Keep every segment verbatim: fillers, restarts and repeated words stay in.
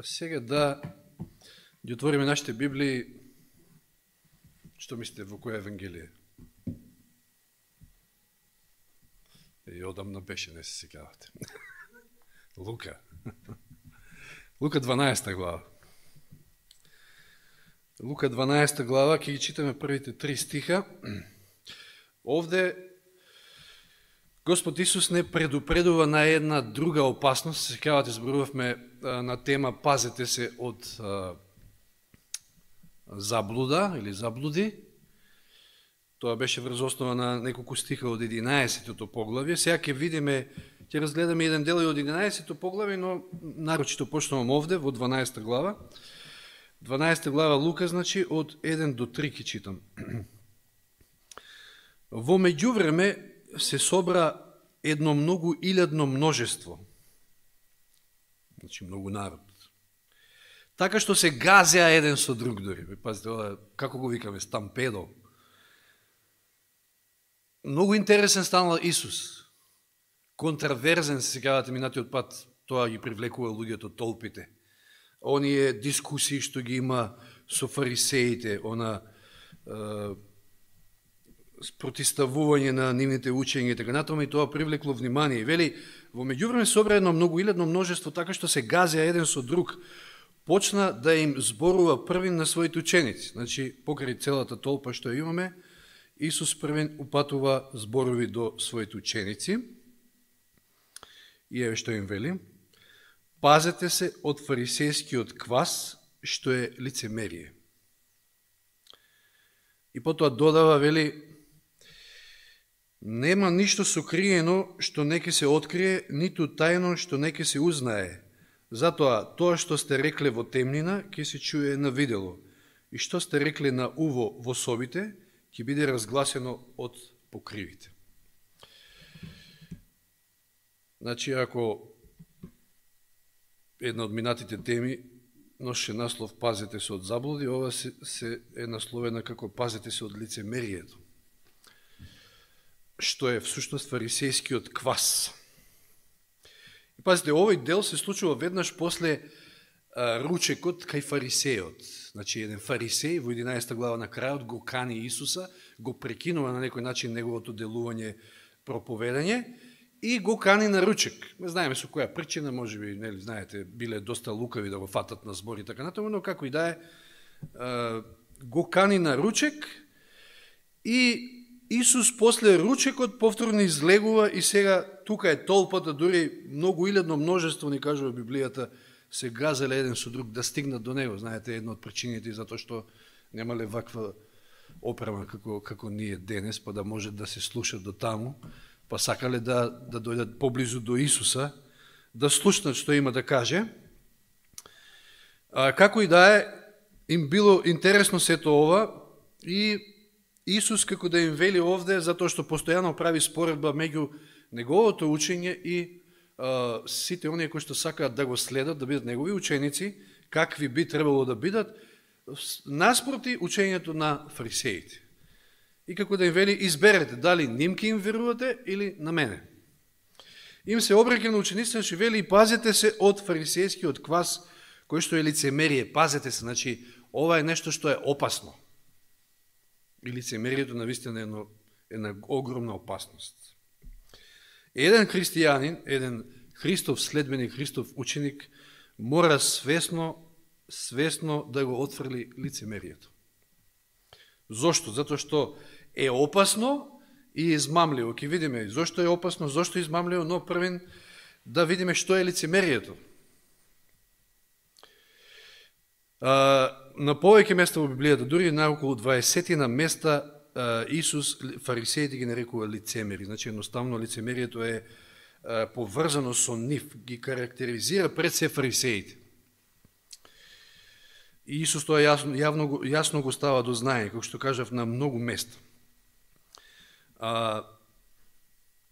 Сега да ги отвориме нашите Библии. Што мислите, во која Евангелие? И одамна беше, не се сеќавате. Лука. Лука дванаесета глава. Лука дванаесета глава, ќе ги читаме првите три стиха. Овде Господ Исус не предупредува на една друга опасност. Се сеќавате, зборувавме на тема пазете се од а, заблуда или заблуди. Тоа беше врз основа на неколку стиха од единаесеттото поглавје. Сега ќе видиме, ќе разгледаме еден дел и од единаесеттото поглавје, но нарочито почнувам овде во дванаесета глава. дванаесета глава Лука, значи од еден до три ќе читам. Во меѓувреме се собра едно многу илјадно множество, значи многу народ, така што се газеа еден со друг дори. Пазите, ова, како го викаме, стампедо. Многу интересен станал Исус. Контраверзен, се сеќавате минатиот пат, тоа ги привлекува луѓето, толпите. Оние дискусии што ги има со фарисеите, она е, протиставување на нивните учења и така натаму, и тоа привлекло внимание. И вели, во меѓувреме собра едно многу илјадно множество, така што се газеа еден со друг, почна да им зборува првин на своите ученици. Значи, покрај целата толпа што имаме, Исус првин упатува зборови до своите ученици. И еве што им вели: пазете се од фарисејскиот квас, што е лицемерие. И потоа додава, вели: нема ништо сокриено што не ќе се открие, ниту тајно што не ќе се узнае. Затоа, тоа што сте рекле во темнина, ќе се чуе на видело. И што сте рекле на уво во собите, ќе биде разгласено од покривите. Значи, ако една од минатите теми ноше наслов пазете се од заблуди, ова се, се е насловена како пазете се од лицемерието, што е всушност фарисејскиот квас. И пазите, овој дел се случува веднаш после а, ручекот кај фарисејот. Значи, еден фарисеј во единаесета глава на крајот го кани Исуса, го прекинува на некој начин неговото делување, проповедање, и го кани на ручек. Не знаеме со која причина, може би, нели, знаете, биле доста лукави да го фатат на збор и така натаму, но како и да е, го кани на ручек и Исус после ручекот повторно излегува и сега тука е толпата, дури многу илјадно множество, ни кажува Библијата, се газеле еден со друг да стигнат до него. Знаете, една од причините затоа што немале ваква опрема како, како ние денес, па да може да се слушат до таму, па сакале да, да дојдат поблизу до Исуса, да слушнат што има да каже. А, како и да е, им било интересно сето ова и Исус како да им вели овде, затоа што постојано прави споредба меѓу неговото учење и а, сите оние кои што сакаат да го следат, да бидат негови ученици, какви би требало да бидат, наспроти учењето на фарисеите. И како да им вели, изберете дали ним ке им верувате или на мене. Им се обраќа на учениците, што вели: пазете се од фарисејскиот квас, кој што е лицемерие. Пазете се, значи, ова е нешто што е опасно. И лицемерието навистина е една, една огромна опасност. Еден христијанин, еден Христов следбеник, Христов ученик, мора свесно, свесно да го отфрли лицемерието. Зошто? Затоа што е опасно и измамливо. Ке видиме зошто е опасно, зошто е измамливо, но првен да видиме што е лицемерието. А, на повеќе места во Библијата, дури на околу дваесетина места, Исус фарисеите ги нарекува лицемери. Значи, едноставно лицемерието е поврзано со нив, ги карактеризира пред се фарисеите. И Исус тоа јасно, јавно, јасно го става до знаење, како што кажав, на многу места. А,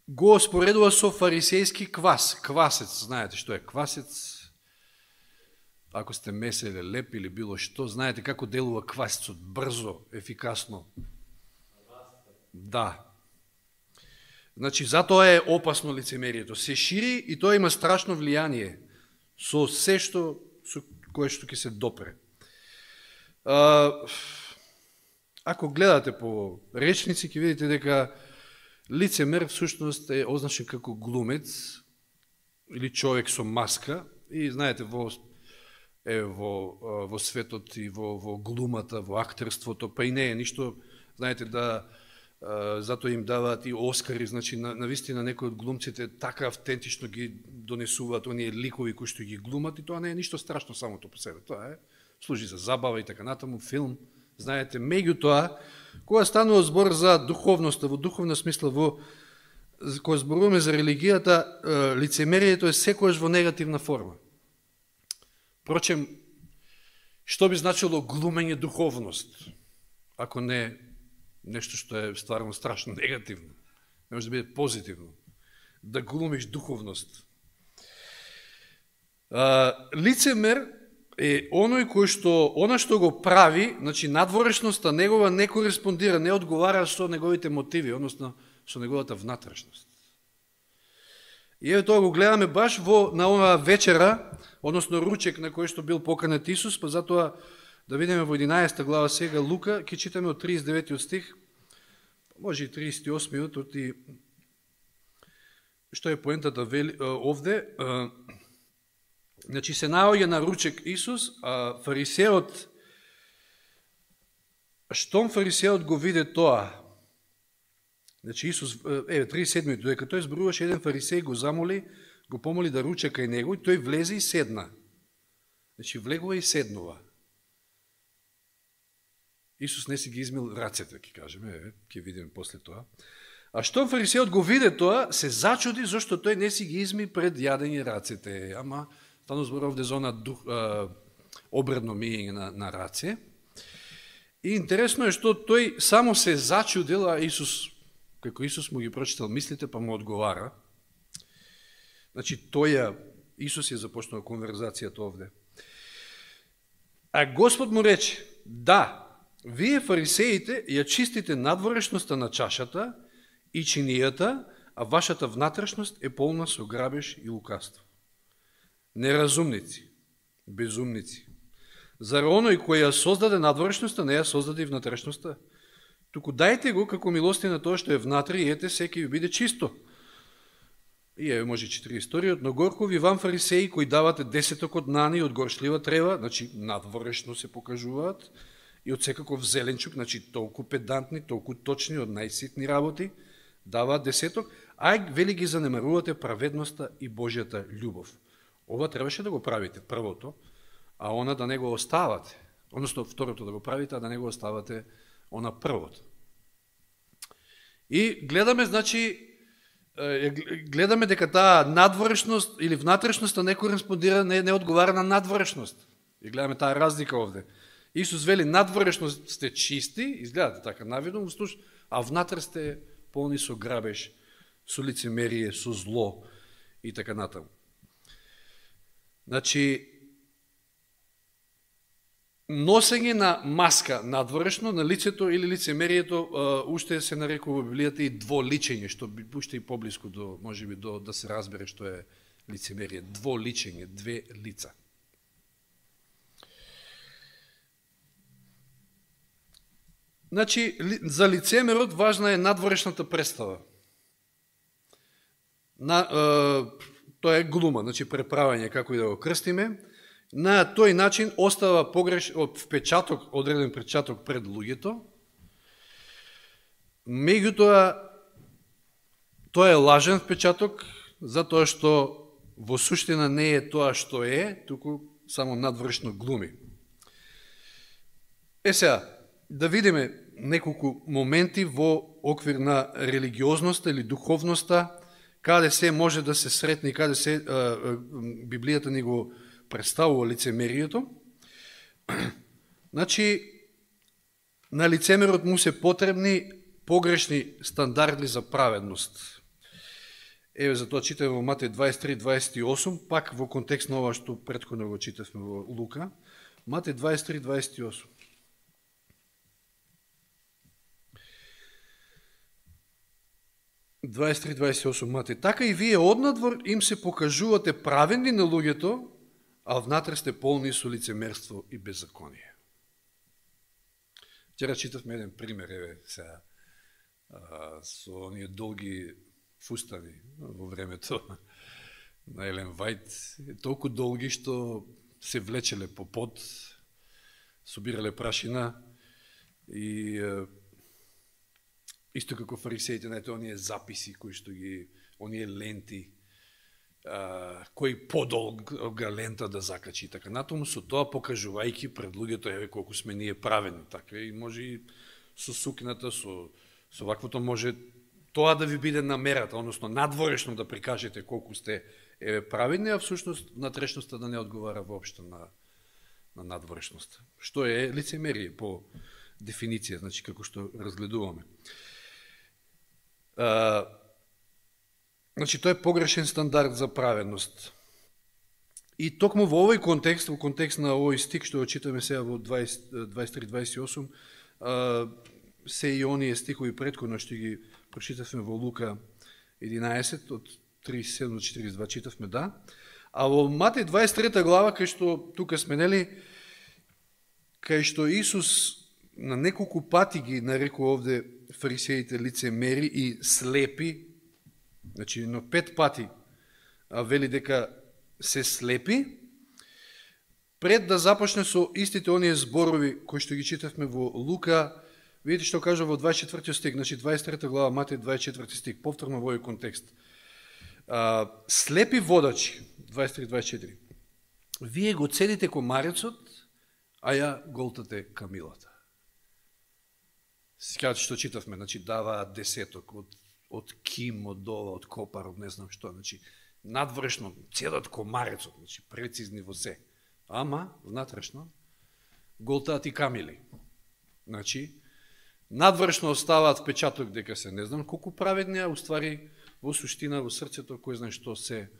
го споредува со фарисејски квас. Квасец, знаете што е квасец? Ако сте меселе леп или било што, знаете како делува квасецот, брзо, ефикасно. Да. Значи, затоа е опасно лицемерието. Се шири и тоа има страшно влијание со се што со кое што ќе се допре. А, ако гледате по речници, ќе видите дека лицемер всушност е означен како глумец или човек со маска. И знаете, во, е, во, во светот и во, во глумата, во актерството, па и не е ништо, знаете, да затоа им даваат и Оскари, значи на, на вистина некои од глумците така автентично ги донесуваат оние ликови кои што ги глумат и тоа не е ништо страшно самото по себе. Тоа е, служи за забава и така натаму, филм, знаете, меѓутоа, кога станува збор за духовноста, во духовна смисла, во кога зборуваме за религијата, лицемерието е секојаш во негативна форма. Впрочем, што би значило глумење духовност, ако не нешто што е стварно страшно негативно, не може да биде позитивно, да глумиш духовност. А, лицемер е оној кој што, она што го прави, значи надворешноста негова не кореспондира, не одговара со неговите мотиви, односно со неговата внатрешност. И еве тоа го гледаме баш во на оваа вечера, односно ручек на кој што бил поканет Исус, па затоа да видиме во единаесета глава сега Лука, ќе читаме од тридесет и деветиот стих, може и тридесет и осмиот, и што е поентата овде. Значи се наоѓа на ручек Исус, а фарисеот, штом фарисеот го виде тоа, значи Исус, еве, тридесет и седмиот, додека тој зборуваше, еден фарисеј го замоли, го помоли да руче кај него, и тој влезе и седна. Значи влегува и седнува. Исус не си ги измил рацете, ќе кажеме, ќе видиме после тоа. А штом фарисеот го виде тоа, се зачуди зашто тој не си ги изми пред јадење рацете. Ама, стану збор овде за она дух, а, обредно мијење на, на раце. И интересно е што тој само се зачудил, а Исус, како Исус му ги прочитал мислите, па му одговара. Значи, тој, Исус ја започнал конверзацијата овде. А Господ му рече, да, вие фарисеите ја чистите надворешноста на чашата и чинијата, а вашата внатрешност е полна со грабеж и лукавство. Неразумници, безумници. Зар оној кој ја создаде надворешноста, не ја создаде и внатрешноста? Туку дајте го како милости на тоа што е внатре и ете секи ви биде чисто. И еве може читри историјот, но горко ви вам фарисеи кои давате десеток од нани и од горшлива трева, значи надворешно се покажуваат, и од секаков зеленчук, значи толку педантни, толку точни, од најситни работи, даваат десеток, а вели ги занемарувате праведноста и Божјата љубов. Ова требаше да го правите, првото, а она да не го оставате. Односно, второто да го правите, а да не го оставате она првото. И гледаме, значи, гледаме дека таа надворешност или внатрешноста не кореспондира, не, не одговара на надворешност. И гледаме таа разлика овде. Исус вели, надворешност сте чисти, изгледате така навидно, а внатре сте полни со грабеж, со лицемерие, со зло и така натаму. Значи, носење на маска надворешно на лицето или лицемерието, уште се нарекува во Библијата и дволичење, што би уште и поблиску до, може би, до, да се разбере што е лицемерие. Дволичење, две лица. Значи, за лицемерот важна е надворешната представа. На, е, тоа е глума, значи преправање, како и да го крстиме. На тој начин остава погреш, впечаток, одреден впечаток пред луѓето. Меѓутоа, тоа е лажен впечаток, затоа што во суштина не е тоа што е, туку само надворешно глуми. Е сега, да видиме неколку моменти во оквир на религиозноста или духовноста, каде се може да се сретне, каде се а, а, Библијата ни го представува лицемерието. Значи, на лицемерот му се потребни погрешни стандарди за праведност. Еве, за тоа читаме во Матеј дваесет и три дваесет и осум, пак во контекст на ова што претходно го читавме во Лука. Матеј дваесет и три дваесет и осум. дваесет и три дваесет и осум Матеј. Така и вие однадвор им се покажувате праведни на луѓето, а внатре сте полни со лицемерство и беззаконие. Вчера читавме еден пример, еве, сега, со оние долги фустани во времето на Елен Вајт, толку долги што се влечеле по под, собирале прашина и исто како фарисеите, знаете, оние записи кои што ги, оние ленти, а, кој подолга лента да закачи, така натаму со тоа покажувајќи пред луѓето, еве колку сме ние праведни, така и може и со сукната, со со ваквото може тоа да ви биде намерата, односно надворешно да прикажете колку сте еве праведни, а всушност внатрешноста да не одговара воопшто на на надворешноста. Што е лицемерие по дефиниција, значи како што разгледуваме. А, значи тоа е погрешен стандард за праведност. И токму во овој контекст, во контекст на овој стик што го читаме сега во дваесет три дваесет и осум, а, се и оние стихови претходно што ги прочитавме во Лука единаесет од тридесет и седум до четиридесет и два читавме, да. А во Матеј дваесет и трета глава, кај што тука сме, нели, кај што Исус на неколку пати ги нарекува овде фарисеите лицемери и слепи, значи на пет пати а вели дека се слепи, пред да започне со истите оние зборови кои што ги читавме во Лука, видите што кажа во дваесет и четврти стих, значи дваесет и трета глава, Матеј дваесет и четврти стих, повторно во овој контекст. А, слепи водачи, дваесет и три дваесет и четири, вие го цедите комарецот, а ја голтате камилата. Сега што читавме, значи даваат десеток од, од ким, од ова, од копар, од не знам што, значи надврешно цедат комарецот, значи прецизни во се, ама внатрешно голтаат и камили. Значи надвршно оставаат печаток дека се не знам колку праведни, а уствари во суштина, во срцето, кој знае што се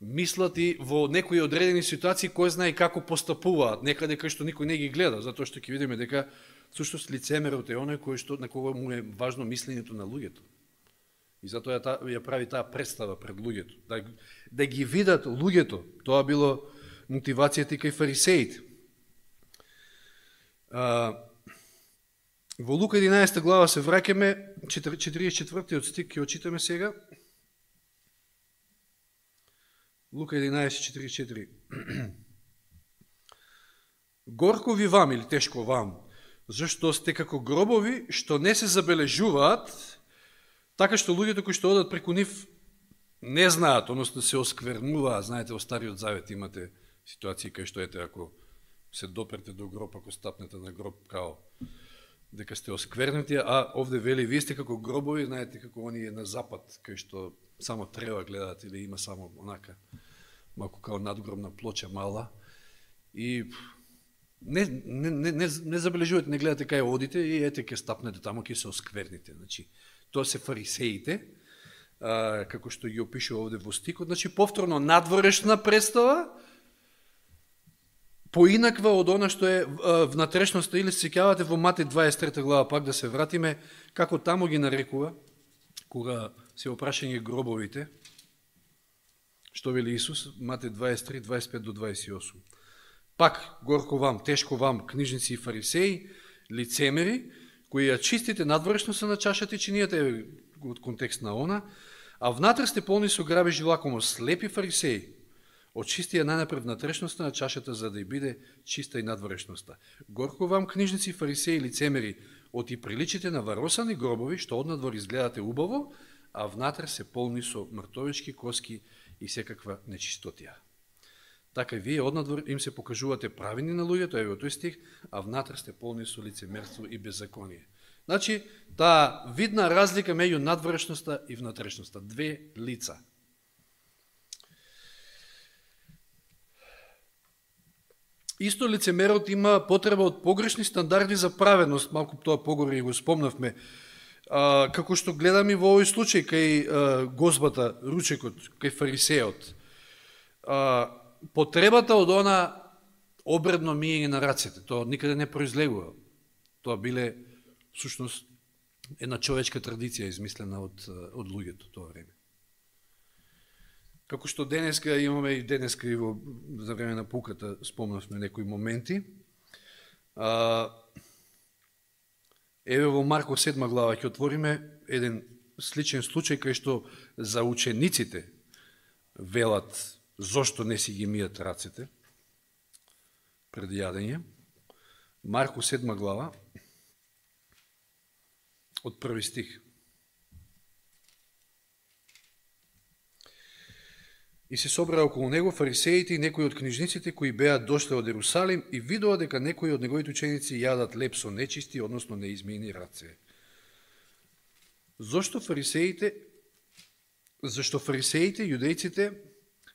мислат и во некои одредени ситуации кој знае како постапуваат, некаде кај што никој не ги гледа, затоа што ќе видиме дека всушност лицемерот е оној кој што на кого му е важно мислењето на луѓето. И затоа ја, ја прави таа представа пред луѓето, да, да ги видат луѓето. Тоа било мотивацијата и кај фарисеите. А, Во Лука единаесета глава се враќаме, четиридесет и четвртиот стих ќе очитаме сега. Лука единаесет четиридесет и четири. Горко ви вам, или тешко вам, зашто сте како гробови што не се забележуваат, така што луѓето кои што одат преку нив не знаат, односно се осквернуваат. Знаете, во Стариот Завет имате ситуации кај што ете, ако се допрете до гроб, ако стапнете на гроб, као дека сте осквернати, а овде вели, вие сте како гробови, знаете како оние на запад, кај што само трева гледаат или има само онака, малку као надгробна плоча мала, и не, не, не, не, не забележувате, не гледате кај одите и ете ке стапнете тамо, ке се оскверните. Значи, тоа се фарисеите, а, како што ги опишува овде во стикот, значи повторно надворешна представа, поинаква од она што е внатрешноста, или се сеќавате во Матеј дваесет и трета глава, пак да се вратиме, како таму ги нарекува, кога се опрашање гробовите, што вели Исус, Матеј дваесет и три дваесет и пет до дваесет и осум. Пак, горко вам, тешко вам, книжници и фарисеи, лицемери, кои ја чистите надворешноста на чашата и чинијата, од контекст на она, а внатре сте полни со грабеж и лакомост, слепи фарисеи, очисти ја најнапред внатрешноста на чашата, за да ја биде чиста и надворешноста. Горко вам, книжници, фарисеи и лицемери, оти приличите на варосани гробови, што однадвор изгледате убаво, а внатре се полни со мртовички коски и секаква нечистотија. Така и вие однадвор им се покажувате правини на луѓето, еве тој стих, а внатре сте полни со лицемерство и беззаконие. Значи, таа видна разлика меѓу надворешноста и внатрешноста, две лица. Исто лицемерот има потреба од погрешни стандарди за праведност, малку тоа погоре и го спомнавме, а, како што гледаме во овој случај кај а, гозбата, ручекот, кај фарисеот. А, потребата од она обредно мијење на рацете, тоа никаде не произлегува. Тоа биле, всушност, една човечка традиција измислена од, од луѓето тоа време. Како што денеска имаме и денеска и во за време на пуката спомнавме некои моменти. А, еве во Марко седма глава ќе отвориме еден сличен случај кај што за учениците велат зошто не си ги мијат рацете пред јадење. Марко седма глава од први стих. И се собраа околу него фарисеите и некои од книжниците кои беа дошле од Ерусалим и видоа дека некои од неговите ученици јадат леп со нечисти, односно неизмиени раце. Зошто фарисеите, зашто фарисеите, јудејците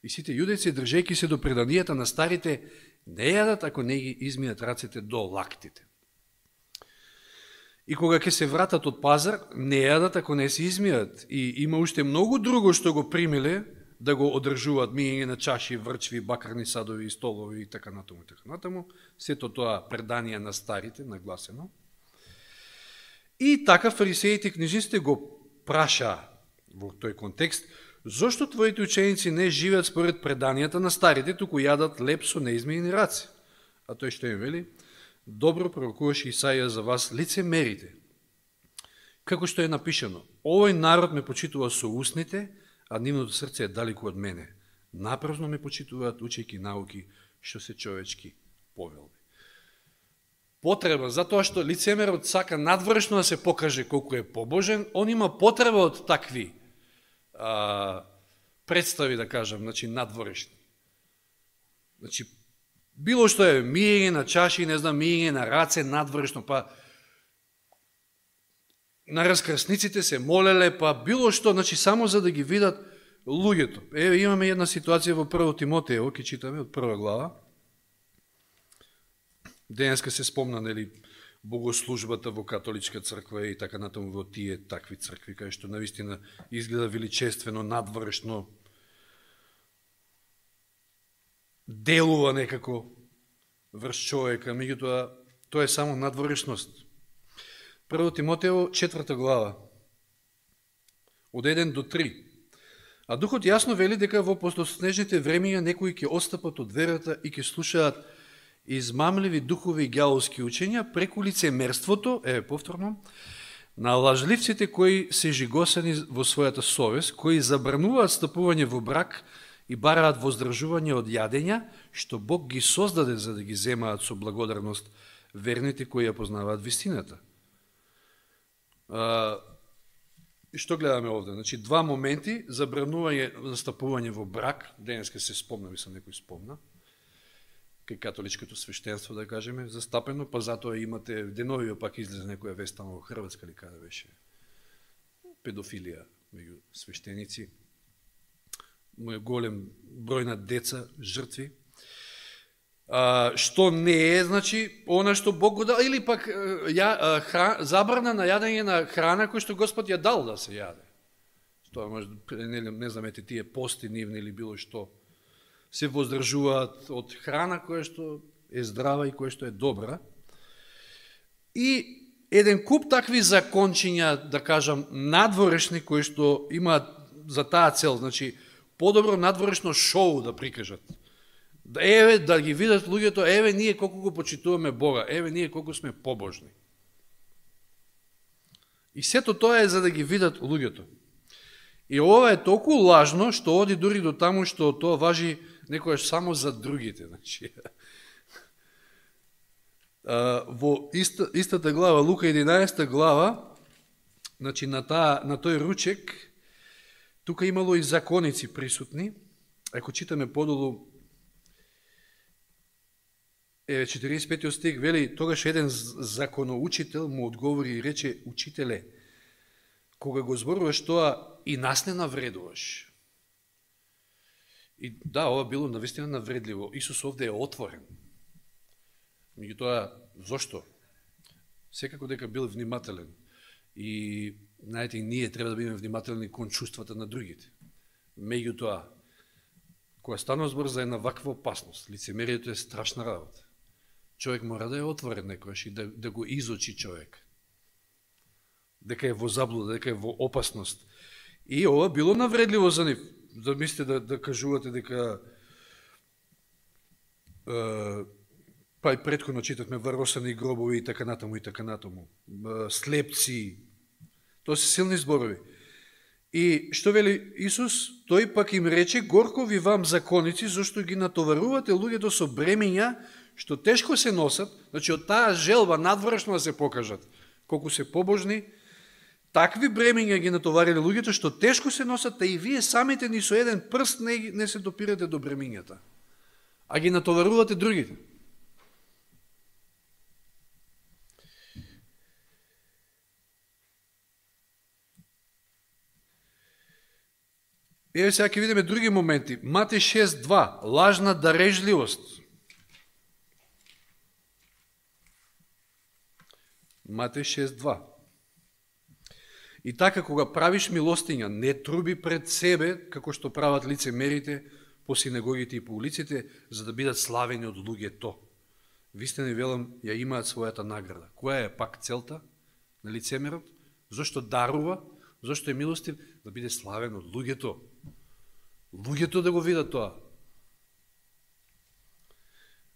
и сите јудејци, држејќи се до преданијата на старите, не јадат ако не ги измијат рацете до лактите. И кога ќе се вратат од пазар, не јадат ако не се измијат. И има уште многу друго што го примиле, да го одржуваат, мијење на чаши, врчви, бакарни садови, столови и така натаму и така натаму. Сето тоа преданија на старите, нагласено. И така фарисеите и книжниците го праша во тој контекст, зошто твоите ученици не живеат според преданијата на старите, туку јадат леп со неизмиени раци? А тој што им вели? Добро пророкуваше Исаија за вас, лицемерите. Како што е напишано, овој народ ме почитува со устните, а нивното срце е далеку од мене. Напразно ме почитуваат учејќи науки што се човечки повелби. Потреба, затоа што лицемерот сака надвршно да се покаже колку е побожен, он има потреба од такви а, представи, да кажам, значи надворешни. Значи, било што е мијење на чаши, не знам, мијење на раце, надвршно, па на раскрсниците се молеле, па било што, значи само за да ги видат луѓето. Еве имаме една ситуација во прво Тимотеево, ќе читаме од прва глава. Денеска се спомна, нели, богослужбата во католичка црква и така натаму во тие такви цркви, кај што навистина изгледа величествено, надвршно, делува некако врз човека, меѓутоа тоа е само надворешност. Прво Тимотеево, четврта глава, од еден до три. А Духот јасно вели дека во послоснежните времења некои ќе отстапат од верата и ќе слушаат измамливи духови и ѓаволски учења преку лицемерството, еве повторно, на лажливците кои се жигосани во својата совест, кои забрануваат стапување во брак и бараат воздржување од јадења, што Бог ги создаде за да ги земаат со благодарност верните кои ја познаваат вистината. Uh, што гледаме овде? Значи, два моменти, забранување за стапување во брак, денеска се спомна, мислам некој спомна, кај католичкото свештенство, да кажеме, застапено, па затоа имате, деновио пак излезе некоја вест во Хрватска, или каде беше, педофилија меѓу свештеници, голем број на деца, жртви, А, што не е, значи, она што Бог го дал, или пак ја, хран, забрана на јадење на храна кој што Господ ја дал да се јаде. Тоа може, не, не знам, ете тие пости нивни или било што, се воздржуваат од храна која што е здрава и која што е добра. И еден куп такви закончиња, да кажам, надворешни, кои што имаат за таа цел, значи, подобро надворешно шоу да прикажат. Еве, да ги видат луѓето, еве ние колку го почитуваме Бога, еве ние колку сме побожни. И сето тоа е за да ги видат луѓето. И ова е толку лажно, што оди дури до таму што тоа важи некојаш само за другите. Значи, во иста, истата глава, Лука единаесета глава, значи на, таа, на тој ручек, тука имало и законици присутни. Ако читаме подолу, Еве, четиридесет и петиот стих вели, тогаш еден законоучител му одговори и рече, учителе, кога го зборуваш тоа, и нас не навредуваш. И да, ова било навистина навредливо. Исус овде е отворен. Меѓутоа, зошто? Секако дека бил внимателен. И, знаете, ние треба да бидеме внимателни кон чувствата на другите. Меѓутоа, кога станува збор за една ваква опасност, лицемерието е страшна работа. Човек мора да е отворен некојаш и да, да го изочи човек. Дека е во заблуда, дека е во опасност. И ова било навредливо за нив. да мислите да, да кажувате дека е, па и претходно читавме варосани гробови и така натаму и така натаму. Е, слепци. Тоа се силни зборови. И што вели Исус? Тој пак им рече: горко ви вам законици, зашто ги натоварувате луѓето со бремења што тешко се носат. Значи од таа желба надвршно да се покажат колку се побожни, такви бремења ги натоварили луѓето што тешко се носат, а и вие самите ни со еден прст не, не се допирате до бремењата, а ги натоварувате другите. Еве сега ќе видиме други моменти. Матеј шест два. Лажна дарежливост. Матеј шест два. И така, кога правиш милостиња, не труби пред себе, како што прават лицемерите по синагогите и по улиците, за да бидат славени од луѓето. Вистина ви велам, ја имаат својата награда. Која е пак целта на лицемерот? Зошто дарува? Зошто е милостив? Да биде славен од луѓето. Луѓето да го видат тоа.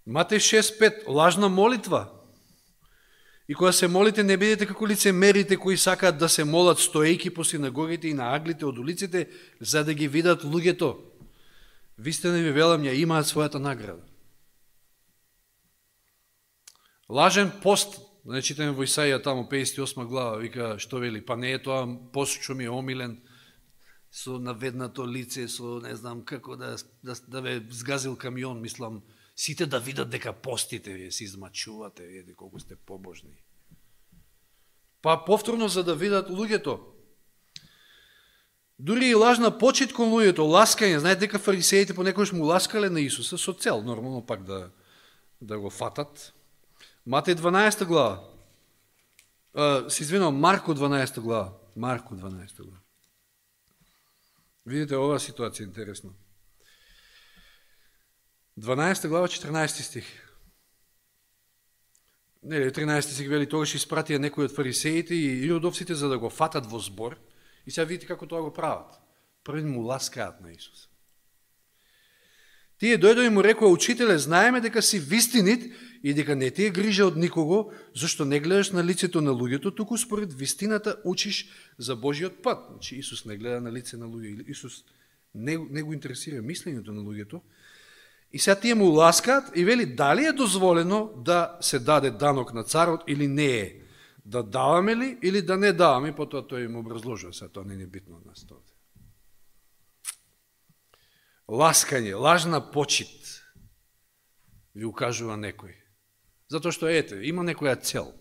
Матеј шест пет. Лажна молитва. И кога се молите, не бидете како лицемерите кои сакаат да се молат стоејки по синагогите и на аглите од улиците, за да ги видат луѓето. Вистина ви велам, ја имаат својата награда. Лажен пост. Не читаме во Исаија таму педесет и осма глава, вика што вели, па не е тоа пост што ми е омилен, со наведнато лице, со не знам како да, да, да ве сгазил камион, мислам, сите да видат дека постите, вие се измачувате, видите колку сте побожни. Па повторно за да видат луѓето. Дури и лажна почит кон луѓето, ласкање, знаете дека фарисеите понекогаш му ласкале на Исуса со цел, нормално пак да, да го фатат. Матеј дванаесета глава. А, се извинувам, Марко дванаесета глава. Марко дванаесета глава. Видите, оваа ситуација е интересна. дванаесета глава, четрнаесети стих. Не, тринаесети стих вели, тогаш испратија некои од фарисеите и иродовците за да го фатат во збор. И сега видите како тоа го прават. Први му ласкаат на Исус. Тие дојдоа и му рекоа: учителе, знаеме дека си вистинит и дека не ти е грижа од никого, зашто не гледаш на лицето на луѓето, туку според вистината учиш за Божиот пат. Значи Исус не гледа на лице на луѓе, Исус не, не го интересира мислењето на луѓето. И сега тие му ласкаат и вели, дали е дозволено да се даде данок на царот или не е? Да даваме ли или да не даваме? Потоа тој им образложува, сега тоа не е битно од нас тоа. Ласкање, лажна почит, ви укажува некој. Затоа што, ете, има некоја цел,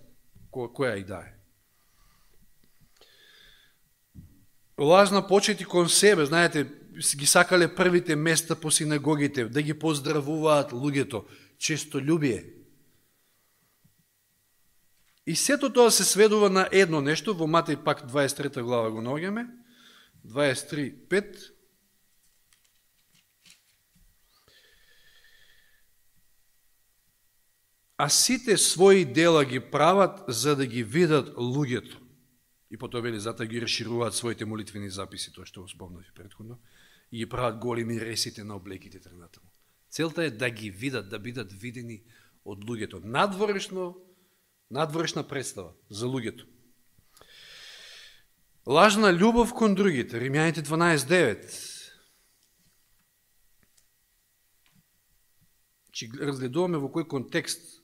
која, која и да е. Лажна почит и кон себе, знаете, ги сакале првите места по синагогите, да ги поздравуваат луѓето, честолюбие. И сето тоа се сведува на едно нешто, во Матеј пак дваесет и трета глава го наоѓаме, дваесет и три пет. А сите своји дела ги прават за да ги видат луѓето. И потоа вели, затоа ги расшируваат своите молитвени записи, тоа што го спомнав претходно, и ги прават големи ресите на облеките тренатаму. Целта е да ги видат, да бидат видени од луѓето. Надворешно, надворешна представа за луѓето. Лажна љубов кон другите, Римјаните дванаесет девет. Чи разгледуваме во кој контекст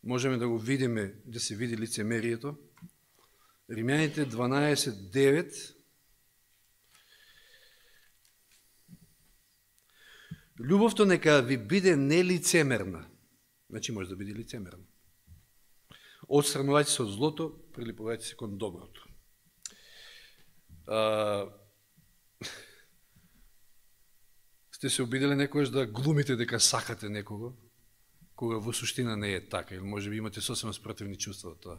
можеме да го видиме, да се види лицемерието. Римјаните дванаесет девет. Љубовта нека ви биде нелицемерна. Значи може да биде лицемерна. Отстранувајте се од злото, прилипувајте се кон доброто. А, сте се обиделе некојаш да глумите дека сакате некого, кога во суштина не е така, или може би имате сосема спротивни чувства од тоа.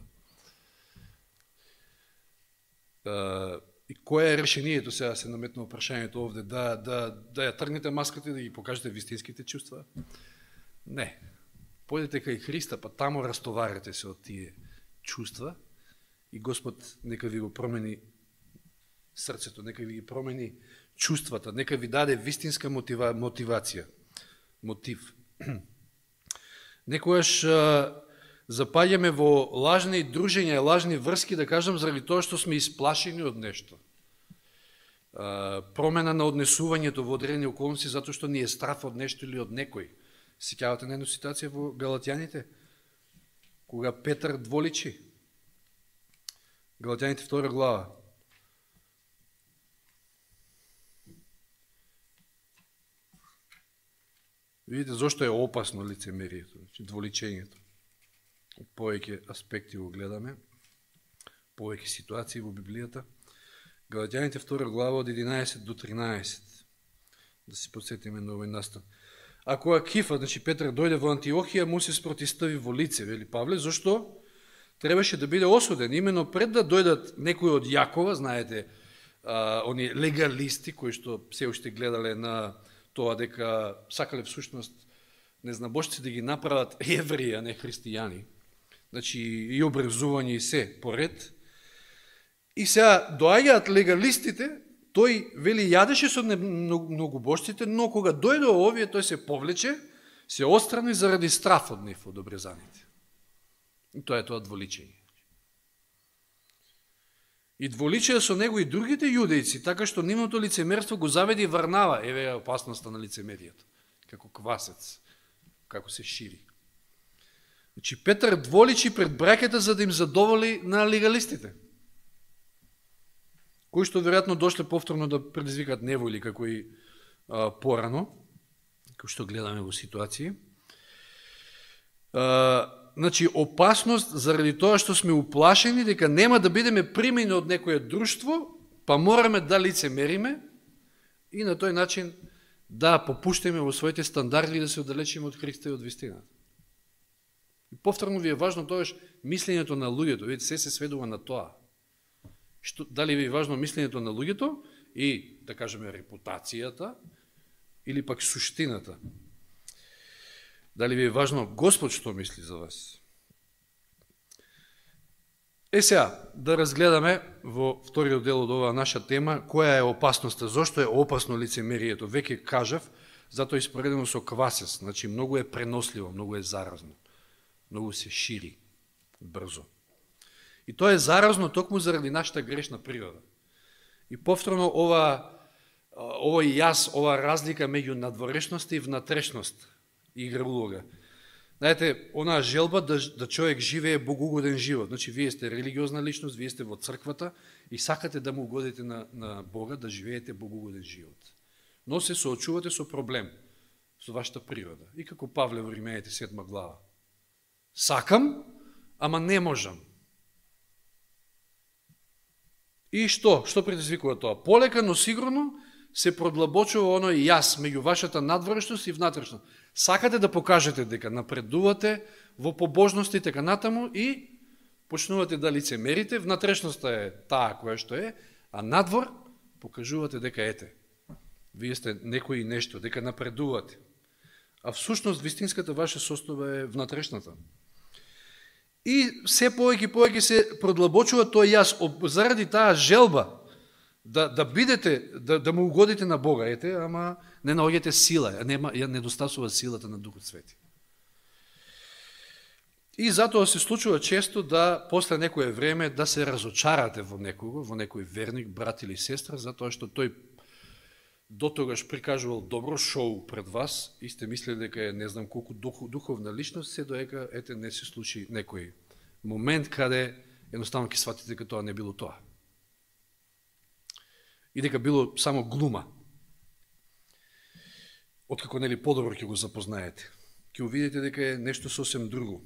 А, и кое е решението, сега се наметна прашањето овде, да, да, да ја тргнете маската и да ги покажете вистинските чувства? Не. Појдете кај Христа, па тамо растоварете се од тие чувства и Господ нека ви го промени срцето, нека ви ги промени чувствата, нека ви даде вистинска мотива, мотивација, мотив. Некојаш запаѓаме во лажни дружења и лажни врски, да кажам, заради тоа што сме исплашени од нешто. Промена на однесувањето во одредени околности, затоа што ни е страф од нешто или од некој. Сеќавате на една ситуација во Галатјаните, кога Петар дволичи. Галатјаните втора глава. Видите зошто е опасно лицемерието, значи дволичењето. Повеќе аспекти го гледаме, повеќе ситуации во Библијата. Галатјаните втора глава од единаесет до тринаесет. Да се подсетиме на овој настан. Ако Акифа, значи Петар, дојде во Антиохија, му се спротистави во лице, вели Павле, зашто требаше да биде осуден. Именно пред да дојдат некои од Јакова, знаете, а, они легалисти, кои што се уште гледале на тоа дека сакале всушност незнабожци да ги направат евреи, а не христијани. Значи и образување и се поред. И сега доаѓаат легалистите, тој вели јадеше со многобожците, но кога дојде овие, тој се повлече, се отстрани заради страф од нив од обрезаните. И тоа е тоа дволичење. И дволичеја со него и другите јудејци, така што нивното лицемерство го заведи Варнава. Еве е опасноста на лицемерието, како квасец, како се шири. Значи Петар дволичи пред браќата за да им задоволи на легалистите, кои што веројатно дошле повторно да предизвикат неволи, како и а, порано, како што гледаме во ситуации. А, значи, опасност заради тоа што сме уплашени дека нема да бидеме примени од некоје друштво, па мораме да лицемериме и на тој начин да попуштиме во своите стандарди и да се оддалечиме од Христа и од вистината. И повторно ви е важно тоаш мислењето на луѓето, видите, се се сведува на тоа. Што, дали ви е важно мислењето на луѓето и, да кажеме, репутацијата или пак суштината. Дали ви е важно Господ што мисли за вас? Е сега, да разгледаме во вториот дел од оваа наша тема, која е опасноста, зошто е опасно лицемерието. Веќе кажав, затоа испоредено со квасец, значи многу е преносливо, многу е заразно, многу се шири брзо. И тоа е заразно токму заради нашата грешна природа. И повторно ова, овој јас, ова разлика меѓу надворешност и внатрешност игра улога. Знаете, онаа желба да, да човек живее богоугоден живот. Значи, вие сте религиозна личност, вие сте во црквата и сакате да му угодите на, на Бога, да живеете богоугоден живот. Но се соочувате со проблем, со вашата природа. И како Павле во Римејаните седма глава. Сакам, ама не можам. И што? Што предизвикува тоа? Полека, но сигурно се продлабочува оној јас меѓу вашата надворешност и внатрешност. Сакате да покажете дека напредувате во побожност и така натаму и почнувате да лицемерите, внатрешноста е таа која што е, а надвор покажувате дека ете. Вие сте некој и нешто, дека напредувате. А всушност вистинската ваша состојба е внатрешната. И се повеќе и повеќе се продлабочува тој јас заради таа желба да, да бидете, да, да му угодите на Бога, ете, ама не наоѓате сила, нема, ја недостасува силата на Духот Свети. И затоа се случува често да после некое време да се разочарате во некого, во некој верник, брат или сестра, затоа што тој дотогаш прикажувал добро шоу пред вас и сте мислили дека е не знам колку дух, духовна личност, се доека ете не се случи некој момент каде едноставно ќе сватите дека тоа не било тоа. И дека било само глума. Откако нели подобро ќе го запознаете, ќе увидите дека е нешто сосем друго.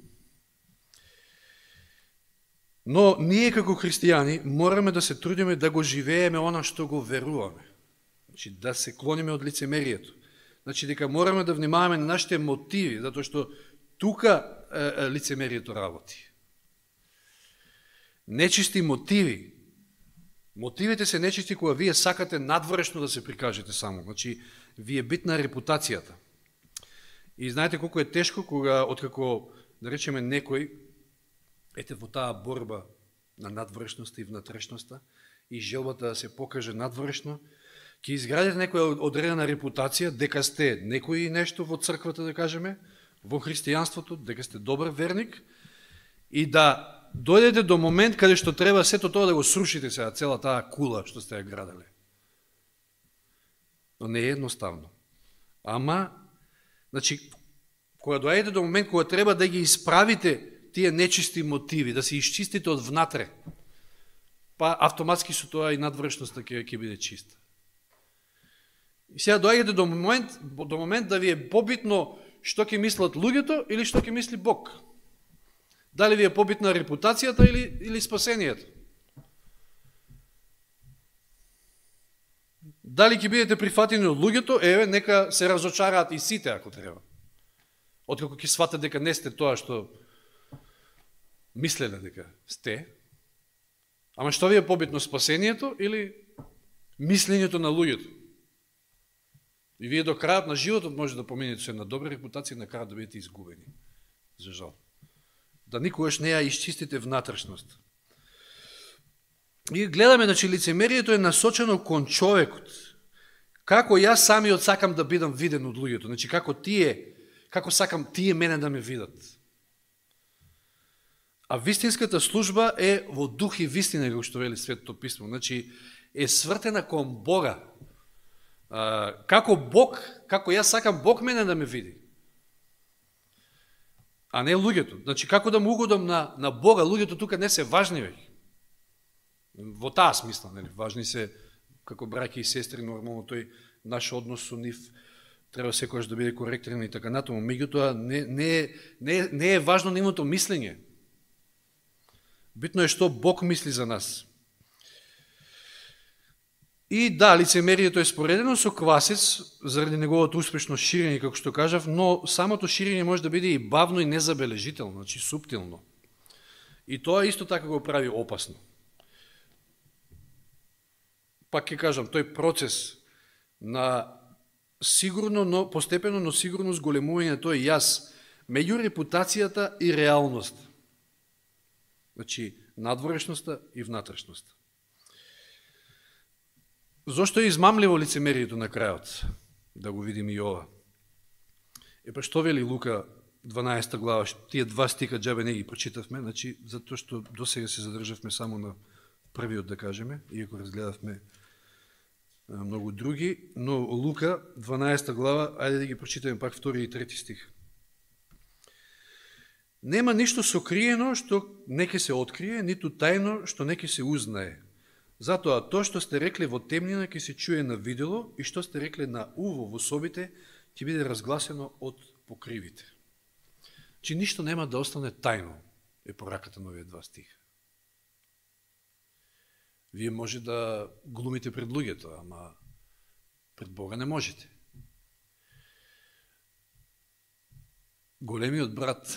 Но ние како христијани мораме да се трудиме да го живееме она што го веруваме. Значи, да се клониме од лицемерието. Значи, дека мораме да внимаваме на нашите мотиви, затоа што тука е, е, лицемерието работи. Нечисти мотиви. Мотивите се нечисти кога вие сакате надворешно да се прикажете само. Значи, ви е битна репутацијата. И знаете колко е тешко кога, откако, да речеме, некој, ете во таа борба на надворешноста и внатрешноста и желбата да се покаже надворешно, ќе изградите некоја одредена репутација, дека сте некој нешто во црквата, да кажеме, во христијанството, дека сте добар верник, и да дојдете до момент каде што треба сето тоа да го срушите сега, цела таа кула што сте ја градале. Но не е едноставно. Ама, значи, кога дојдете до момент кога треба да ги исправите тие нечисти мотиви, да се исчистите од внатре, па автоматски со тоа и надвршноста ќе ќе биде чиста. И сега доаѓате до момент, до момент да ви е побитно што ќе мислат луѓето или што ќе мисли Бог. Дали ви е побитна репутацијата или, или спасението? Дали ќе бидете прифатени од луѓето, еве, нека се разочараат и сите, ако треба. Откако ќе сватат дека не сте тоа што мислеле дека сте. Ама што ви е побитно, спасението или мислењето на луѓето? И вие до крајот на животот може да поминете со една добра репутација и на крајот да бидете изгубени. За жал. Да никогаш не ја исчистите внатрешност. И гледаме, значи, лицемерието е насочено кон човекот. Како јас самиот сакам да бидам виден од луѓето. Значи, како тие, како сакам тие мене да ме видат. А вистинската служба е во дух и вистина, како што вели Светото писмо. Значи, е свртена кон Бога. А, како Бог, како јас сакам Бог мене да ме види. А не луѓето. Значи, како да му угодам на, на Бога, луѓето тука не се важни веќе. Во таа смисла, нели, важни се како браќи и сестри, нормално тој наш однос со нив треба секогаш да биде коректен и така натаму. Меѓутоа не не не не е важно нивното мислење. Битно е што Бог мисли за нас. И да, лицемерието е споредено со квасец заради неговото успешно ширење, како што кажав, но самото ширење може да биде и бавно и незабележително, значи суптилно. И тоа исто така го прави опасно. Пак ќе кажам, тој процес на сигурно, но постепено, но сигурно зголемување на тој јас меѓу репутацијата и реалноста. Значи, надворешноста и внатрешноста. Зошто е измамливо лицемерието на крајот? Да го видим и ова. Е па што вели Лука дванаесета глава, тие два стика џабе не ги прочитавме, значи, затоа што досега се задржавме само на првиот, да кажеме, иако разгледавме многу други, но Лука дванаесета глава, ајде да ги прочитаме пак втори и трети стих. Нема ништо сокриено што не ќе се открие, ниту тајно што не ќе се узнае. Затоа тоа што сте рекле во темнина ќе се чуе на видело и што сте рекле на уво во собите ќе биде разгласено од покривите. Чи ништо нема да остане тајно, е пораката на овие два стиха. Вие може да глумите пред луѓето, ама пред Бога не можете. Големиот брат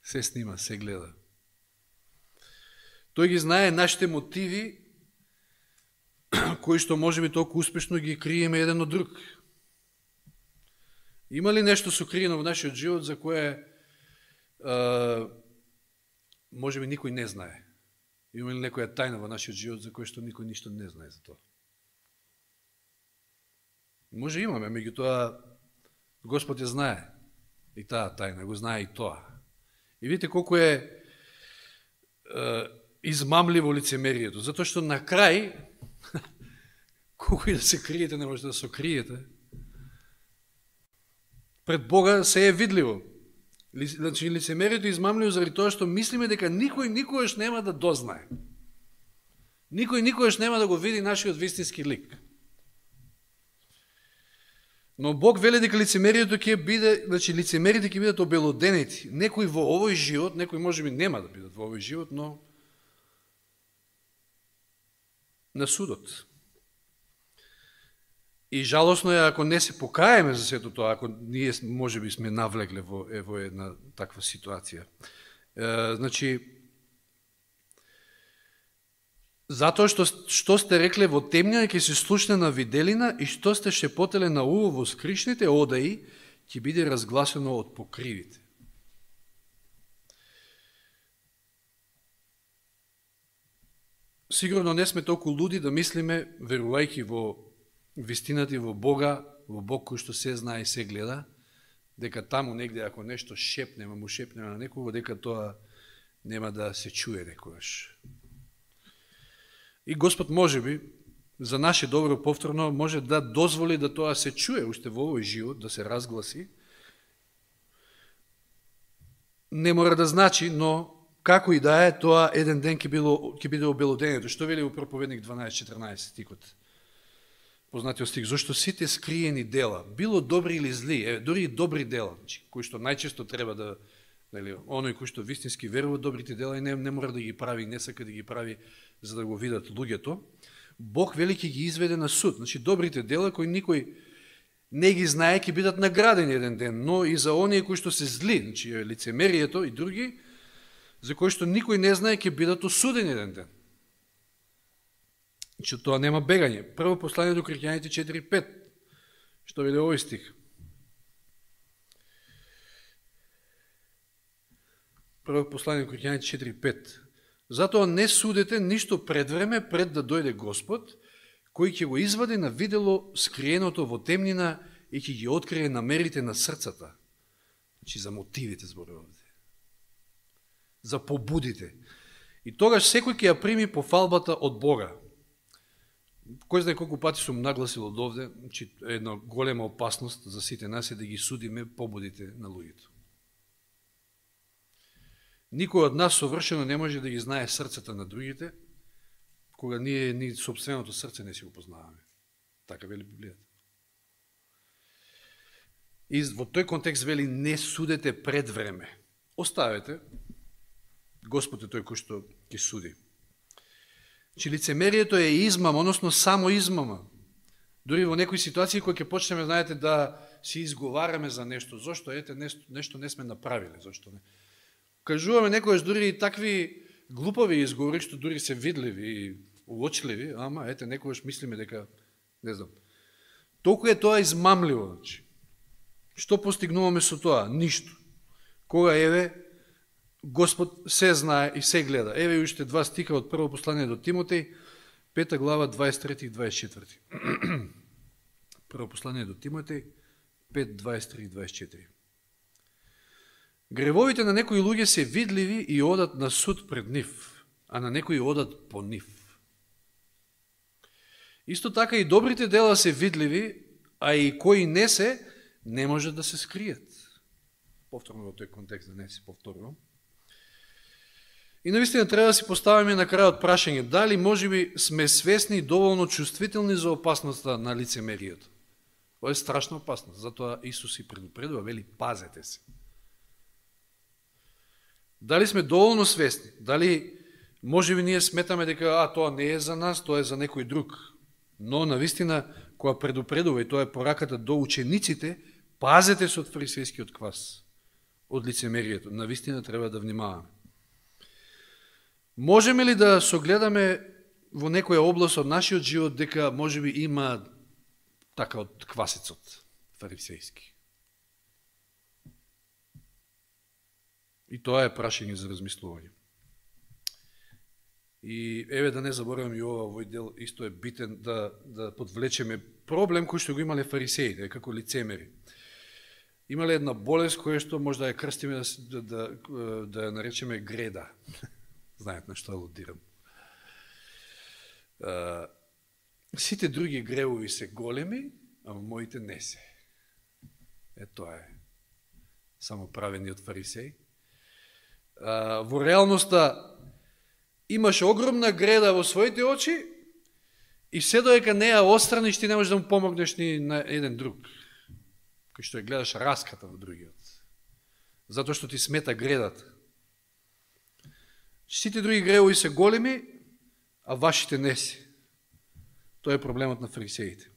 се снима, се гледа. Тој ги знае нашите мотиви, кои што може би толку успешно ги криеме еден од друг. Има ли нешто сокриено во нашиот живот за кое а, може би никој не знае? Има ли некоја тајна во нашиот живот за кој што никој ништо не знае за тоа? Може имаме, меѓутоа Господ ја знае и таа тајна, го знае и тоа. И видите колку е, е измамливо лицемерието, затоа што на крај, колку и да се криете, не можете да се криете, пред Бога се е видливо. Значи, лицемерието е измамливо заради тоа што мислиме дека никој никогаш нема да дознае. Никој никогаш нема да го види нашиот вистински лик. Но Бог вели дека лицемерието ќе биде, значи лицемерите ќе бидат обелоденети. Некои во овој живот, некои можеби нема да бидат во овој живот, но на судот. И жалосно е ако не се покаеме за сето тоа, ако ние можеби сме навлегле во, е, во една таква ситуација. Е, значи, затоа што, што сте рекле во темнина ќе се слушне на виделина и што сте шепотеле на уво во скришните одаи ќе биде разгласено од покривите. Сигурно не сме толку луди да мислиме, верувајќи во вистината и во Бога, во Бог кој што се знае и се гледа, дека таму негде ако нешто шепнеме, му шепнеме на некого, дека тоа нема да се чуе некогаш. И Господ можеби за наше добро повторно може да дозволи да тоа се чуе уште во овој живот, да се разгласи. Не мора да значи, но како и да е, тоа еден ден ќе ќе биде обелодението. Што вели у Проповедник дванаесет четрнаесет стихот? Познатиот стих, зашто сите скриени дела, било добри или зли, е, дори и добри дела, кои што најчесто треба да, нели, оној кој што вистински верува добрите дела и не, не мора да ги прави, не сака да ги прави за да го видат луѓето, Бог вели ќе ги изведе на суд. Значи добрите дела кои никој не ги знае ќе бидат наградени еден ден, но и за оние кои што се зли, значи лицемерието и други, за кои што никој не знае ќе бидат осудени еден ден. Че тоа нема бегање. Прво послание до Коринќаните четири пет. Што вели овој стих? Прво послание до Коринќаните четири пет. Затоа не судете ништо пред време, пред да дојде Господ, кој ќе го извади на видело скриеното во темнина и ќе ги открие намерите на срцата. Значи за мотивите зборува овде. За побудите. И тогаш секој ќе ја прими пофалбата од Бога. Кој знае колку пати сум нагласил од овде, че една голема опасност за сите нас е да ги судиме побудите на луѓето. Никој од нас совршено не може да ги знае срцата на другите, кога ние ни собственото срце не си го познаваме. Така вели Библијата. И во тој контекст вели не судете пред време. Оставете, Господ е тој кој што ќе суди. Че лицемерието е измама, односно само измама. Дори во некои ситуации кои ќе почнеме, знаете, да си изговараме за нешто. Зошто? Ете, нешто, нешто не сме направиле. Зошто не? Кажуваме некојаш дури и такви глупови изговори, што дури се видливи и уочливи, ама ете, некојаш мислиме дека, не знам, толку е тоа измамливо. Значи. Што постигнуваме со тоа? Ништо. Кога еве, Господ се знае и се гледа. Еве уште два стиха од прво послание до Тимотеј, пета глава, дваесет трети и дваесет четврти. Прво послание до Тимотеј, пет, дваесет три и дваесет четири. Гревовите на некои луѓе се видливи и одат на суд пред нив, а на некои одат по нив. Исто така и добрите дела се видливи, а и кои не се, не може да се скријат. Повторно во тој контекст, да не се повторувам. И навистина треба да си поставиме на крајот прашање, дали можеби сме свесни и доволно чувствителни за опасноста на лицемерието. Тоа е страшна опасност, затоа Исус и предупредува, вели, пазете се. Дали сме доволно свесни? Дали можеби ние сметаме дека а тоа не е за нас, тоа е за некој друг. Но навистина кога предупредува и тоа е пораката до учениците, пазете се од фарисејскиот квас, од лицемерието. Навистина треба да внимаваме. Можеме ли да согледаме во некоја област од нашиот живот дека можеби има така од квасецот фарисејски? И тоа е прашање за размислување. И еве да не заборавам и ова, овој дел исто е битен да, да подвлечеме проблем кој што го имале фарисеите, како лицемери. Имале една болест која што може да ја крстиме, да, да, да ја наречеме греда. Знаете на што алудирам. Сите други гревови се големи, а моите не се. Е, тоа е само правени од фарисеи. Во реалноста имаш огромна греда во своите очи и се доека не ја отстраниш, ти не можеш да му помогнеш ни на еден друг, кој што ја гледаш раската во другиот. Затоа што ти смета гредата. Сите други гревови се големи, а вашите не си. Тоа е проблемот на фарисеите.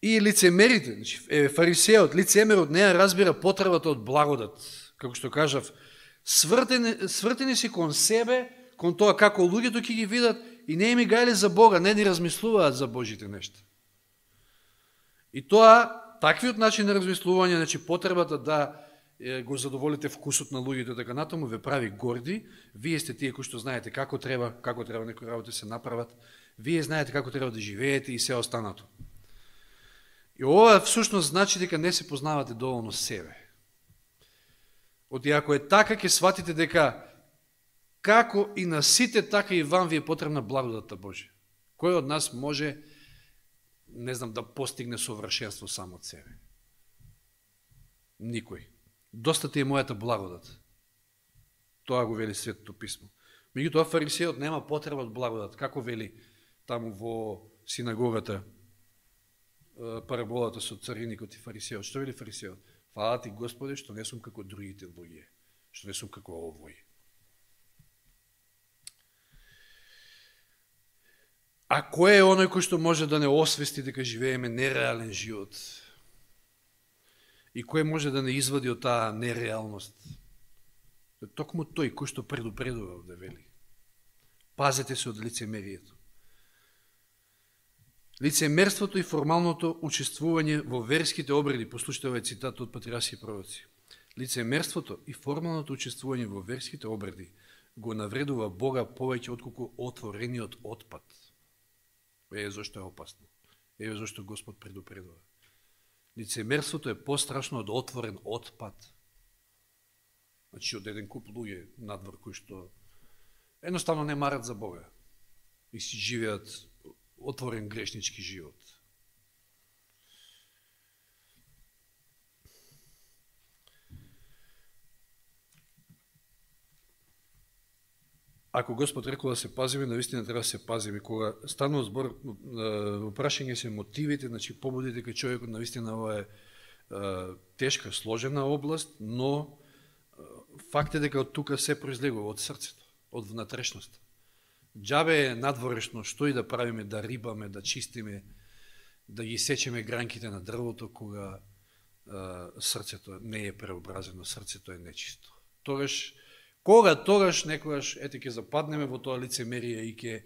И лицемерите, значи, е, фарисеот, лицемерот не ја разбира потребата од благодат. Како што кажав, свртени, свртени си кон себе, кон тоа како луѓето ќе ги видат и не им гајле за Бога, не ни размислуваат за Божите нешта. И тоа, таквиот начин на размислување, значи потребата да го задоволите вкусот на луѓето, така натаму ве прави горди. Вие сте тие кои што знаете како треба, како треба некои работи се направат. Вие знаете како треба да живеете и се останато. И ова всушност значи дека не се познавате доволно себе. Оти ако е така, ќе сватите дека како и на сите, така и вам ви е потребна благодата Божја. Кој од нас може, не знам, да постигне совршенство само од себе? Никој. Доста ти е мојата благодат. Тоа го вели Светото писмо. Меѓутоа фарисеот нема потреба од благодат. Како вели таму во синагогата параболата со цариникот и фарисеот? Што вели фарисеот? Фала ти Господе што не сум како другите луѓе, што не сум како овој. А кој е оној кој што може да не освести дека живееме нереален живот? И кој може да не извади од таа нереалност? Токму тој кој што предупредува да вели. Пазете се од лицемерието. Лицемерството и формалното учествување во верските обреди, послушате овој цитат од патриарси и пророци. Лицемерството и формалното учествување во верските обреди го навредува Бога повеќе отколку отворениот отпад. Еве зашто е опасно. Еве зашто Господ предупредува. Лицемерството е пострашно од отворен отпад. Значи од еден куп луѓе надвор кои што едноставно не марат за Бога и си живеат отворен грешнички живот. Ако Господ рекол да се пазиме, навистина треба да се пазиме. Кога станува збор, во прашање се мотивите, значи побудите кај човекот, навистина ова е тешка, сложена област, но факт е дека од тука се произлегува од срцето, од внатрешноста. Џабе е надворешно што и да правиме, да рибаме, да чистиме, да ги сечеме гранките на дрвото, кога а, срцето не е преобразено, срцето е нечисто. Тогаш, кога тогаш некогаш ете ќе западнеме во тоа лицемерие и ќе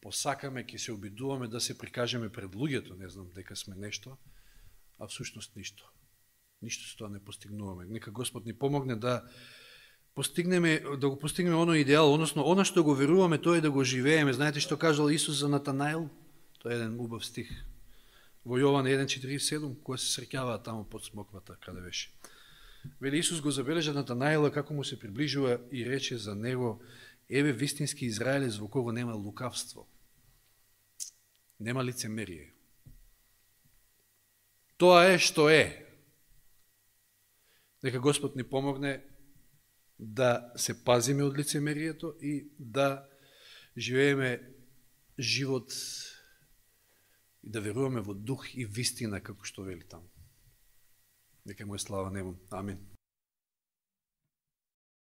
посакаме, ќе се обидуваме да се прикажеме пред луѓето, не знам дека сме нешто, а всушност ништо. Ништо со тоа не постигнуваме. Нека Господ ни помогне да постигнеме, да го постигнеме оно идеал, односно оно што го веруваме, тоа е да го живееме. Знаете што кажал Исус за Натанаил? Тоа е еден убав стих. Во Јован еден четиридесет и седум, која се среќаваа таму под смоквата, каде беше. Вели Исус го забележа Натанаила како му се приближува и рече за него: еве вистински израелец во кого нема лукавство. Нема лицемерие. Тоа е што е. Нека Господ ни помогне да се пазиме од лицемерието и да живееме живот и да веруваме во дух и вистина, како што вели таму. Нека му е слава небом. Амин.